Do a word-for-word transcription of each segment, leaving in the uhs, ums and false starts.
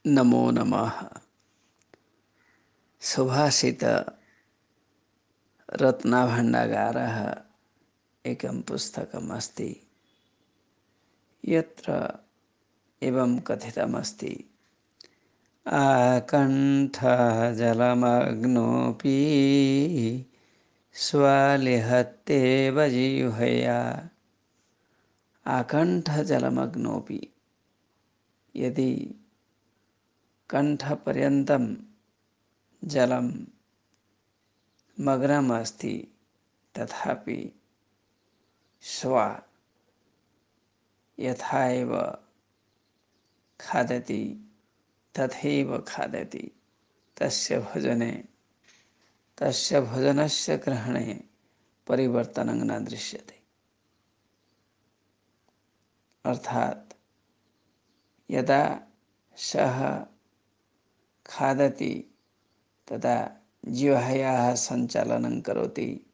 नमो नमः। सुभाषित रत्नभण्डागारः एकं पुस्तकम् अस्ति। यत्र एवं कथितमस्ति, आकण्ठः जलमग्नोऽपि स्वलिहत्येव जिह्वया। आकण्ठः जलमग्नोऽपि, यदि कण्ठपर्यन्तं जलं मग्नम् अस्ति तथापि स्व यथा एव खादति तथैव खादति। तस्य भोजने तस्य भोजनस्य ग्रहणे परिवर्तनं न दृश्यते। अर्थात यदा सः खादति तदा जिह्वायाः सञ्चालनं करोति,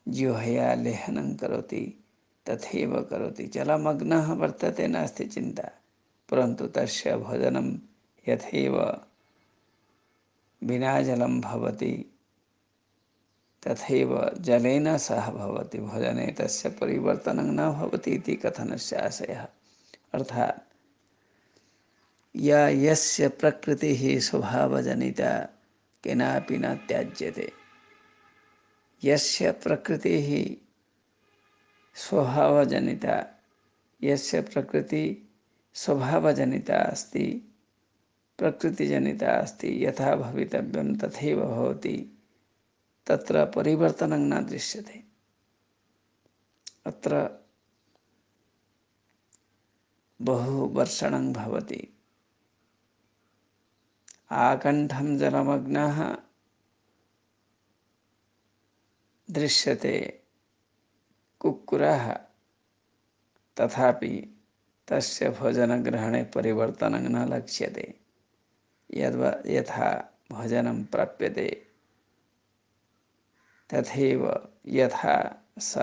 जिह्वया लेहनं करोति, तथैव करोति। जलमग्नः वर्तते नास्ति चिन्ता, परन्तु तस्य भोजनं यथैव विना जलं भवति तथैव जलेन सह भवति। भोजने तस्य परिवर्तनं न भवति इति कथनस्य आशयः। अर्थात् या यस्य प्रकृतिः स्वभावजनिता केनापि न त्याज्यते। यस्य प्रकृतिः स्वभावजनिता, यस्य प्रकृति स्वभावजनिता अस्ति, प्रकृतिजनिता अस्ति, यथा भवितव्यं तथैव भवति, तत्र परिवर्तनं न दृश्यते। अत्र बहु वर्षणं भवति। आकण्ठं जलमग्नः दृश्यते कुक्कुरः, तथापि तस्य भोजनग्रहणे परिवर्तनं न लक्ष्यते। यद्वा यथा भोजनं प्राप्यते तथैव यथा स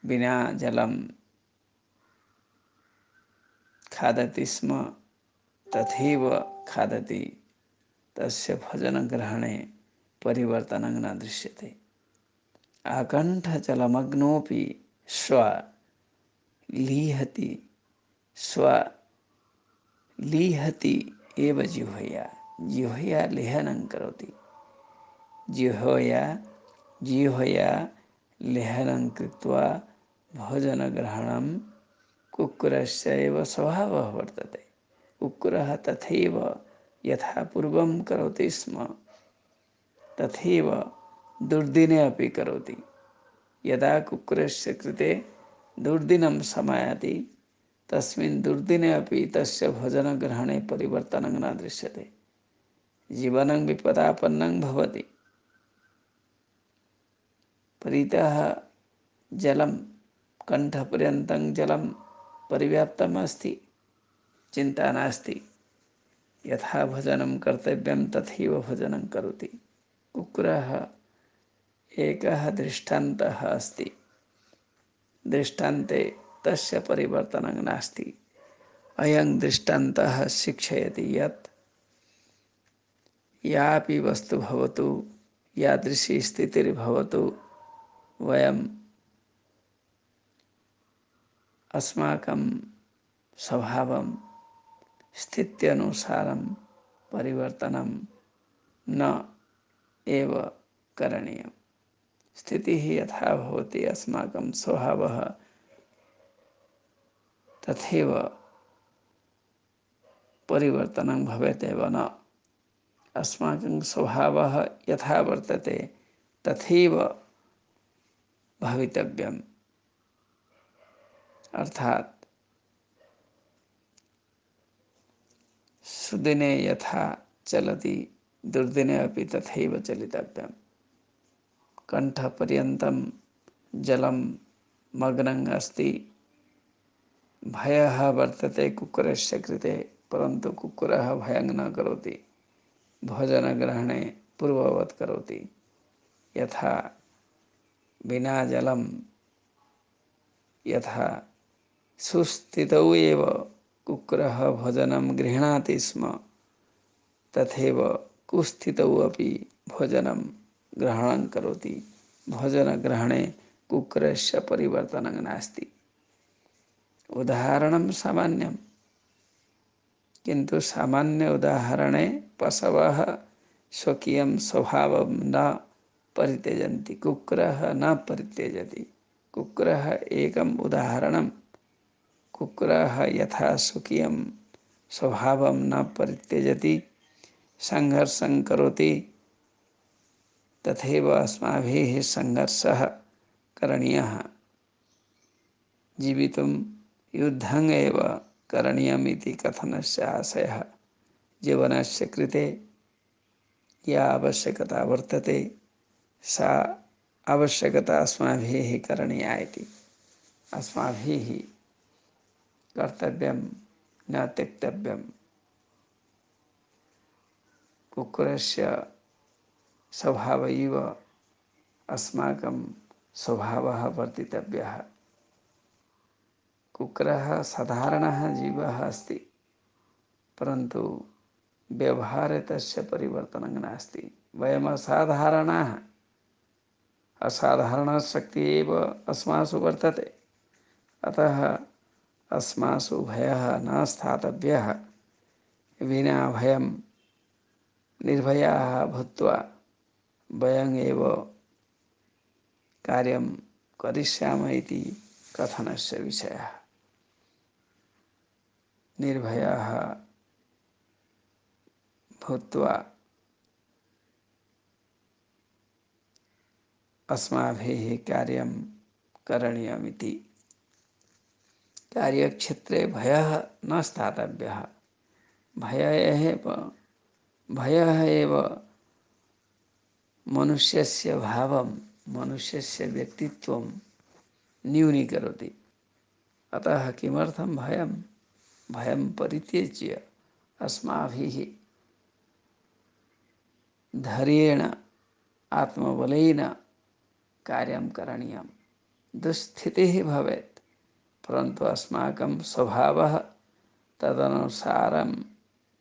विना जलं खादति स्म तथैव खादति। तस्य भोजनग्रहणे परिवर्तनं न दृश्यते। आकण्ठजलमग्नोऽपि स्व लीहति स्व लीहति एव जिह्वया। जिह्वया लेहनं करोति। जिह्वया जिह्वया लेहनं कृत्वा भोजनग्रहणं कुक्कुरस्य एव स्वभावः वर्तते। कुक्कुरः तथैव यथा पूर्वं करोति स्म तथैव दुर्दिने अपि करोति। यदा कुक्कुरस्य कृते दुर्दिनं समायाति तस्मिन् दुर्दिने अपि तस्य भोजनग्रहणे परिवर्तनं न दृश्यते। जीवनं विपदापन्नं भवति। परितः जलं कण्ठपर्यन्तं जलं परिव्याप्तम् अस्ति, चिन्ता नास्ति। यथा भोजनं कर्तव्यं तथैव भोजनं करोति। कुक्कुरः एकः दृष्टान्तः अस्ति। दृष्टान्ते तस्य परिवर्तनं नास्ति। अयं दृष्टान्तः शिक्षयति यत् यापि वस्तु भवतु, यादृशी स्थितिर्भवतु, वयम् अस्माकं स्वभावं स्थित्यनुसारं परिवर्तनं न एव करणीयम्। स्थितिः यथा भवति अस्माकं स्वभावः तथैव परिवर्तनं भवेत् एव न। अस्माकं स्वभावः यथा वर्तते तथैव भवितव्यम्। अर्थात् सुदिने यथा चलति दुर्दिने अपि तथैव चलितव्यम्। कण्ठपर्यन्तं जलं मग्नं अस्ति। भयः वर्तते कुक्कुरस्य कृते, परन्तु कुक्कुरः भयं न करोति। भोजनग्रहणे पूर्ववत् करोति। यथा विना जलं यथा सुस्थितौ एव कुक्रः भोजनं गृह्णाति स्म तथैव कुस्थितौ अपि भोजनं ग्रहणं करोति। भोजनग्रहणे कुक्रस्य परिवर्तनं नास्ति। उदाहरणं सामान्यं, किन्तु सामान्य उदाहरणे पशवः स्वकीयं स्वभावं न परित्यजन्ति, कुक्रः न परित्यजति। कुक्रः एकम् उदाहरणं। कुक्रः यथा स्वकीयं स्वभावं न परित्यजति, संघर्षं करोति, तथैव अस्माभिः संघर्षः करणीयः। जीवितुं युद्धम् एव करणीयम् इति कथनस्य आशयः। जीवनस्य कृते या आवश्यकता वर्तते सा आवश्यकता अस्माभिः करणीया इति। अस्माभिः कर्तव्यं न त्यक्तव्यम्। कुक्रस्य स्वभावैव अस्माकं स्वभावः वर्तितव्यः। कुक्रः साधारणः जीवः अस्ति, परन्तु व्यवहारे तस्य परिवर्तनं नास्ति। वयम् असाधारणाः, असाधारणशक्तिः एव अस्मासु वर्तते। अतः अस्मासु भयः न स्थातव्यः। विना भयं निर्भयाः भूत्वा वयम् एव कार्यं करिष्यामः इति कथनस्य विषयः। निर्भयाः भूत्वा अस्माभिः कार्यं करणीयमिति। कार्यक्षेत्रे भयः न स्थातव्यः। भयः एव भयः एव मनुष्यस्य भावं, मनुष्यस्य व्यक्तित्वं न्यूनीकरोति। अतः किमर्थं भयं? भयं परित्यज्य अस्माभिः धैर्येण आत्मबलेन कार्यं करणीयं। दुस्स्थितिः भवेत्, परन्तु अस्माकं स्वभावः तदनुसारं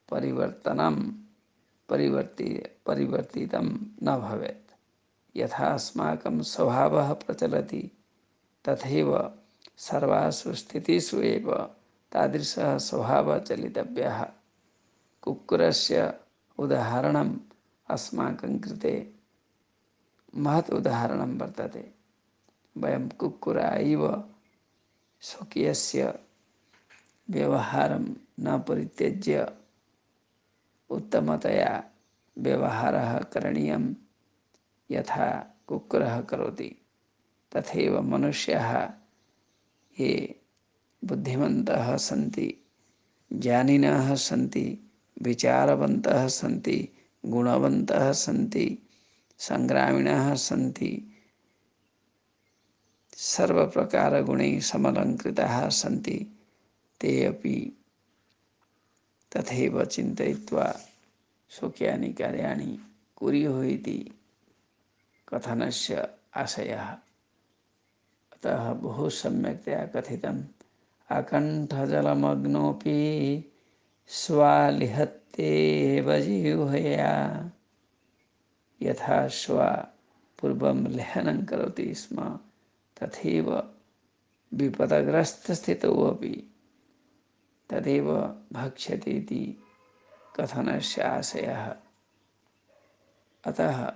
परिवर्तनं परिवर्ति परिवर्तितं न भवेत्। यथा अस्माकं स्वभावः प्रचलति तथैव सर्वासु स्थितिषु एव तादृशः स्वभावः चलितव्यः। कुक्रस्य उदाहरणम् अस्माकं कृते महत् उदाहरणं वर्तते। वयं कुक्कुरः इव स्वकीयस्य व्यवहारं न परित्यज्य उत्तमतया व्यवहारः करणीयं। यथा कुक्रः करोति तथैव मनुष्याः ये बुद्धिमन्तः सन्ति, ज्ञानिनः सन्ति, विचारवन्तः सन्ति, गुणवन्तः सन्ति, संग्रामिणः सन्ति, सर्वप्रकारगुणैः समलङ्कृताः सन्ति, ते अपि तथैव चिन्तयित्वा स्वकीयानि कार्याणि कुर्युः इति कथनस्य आशयः। अतः बहु सम्यक्तया कथितम्। अकण्ठजलमग्नोऽपि स्वालिहत्येव जिह्वया। यथा श्वा पूर्वं लेहनं करोति स्म तथैव विपदग्रस्तस्थितौ अपि तदेव भक्ष्यति इति कथनस्य आशयः। अतः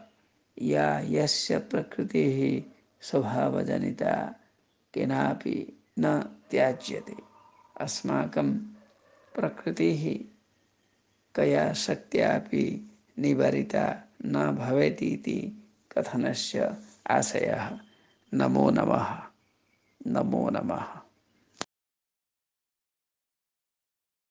या यस्य प्रकृतिः स्वभावजनिता केनापि न त्याज्यते। अस्माकं प्रकृतिः कया शक्त्यापि निवारिता न भवेत् इति कथनस्य आशयः। नमो नमः। नमो नमः।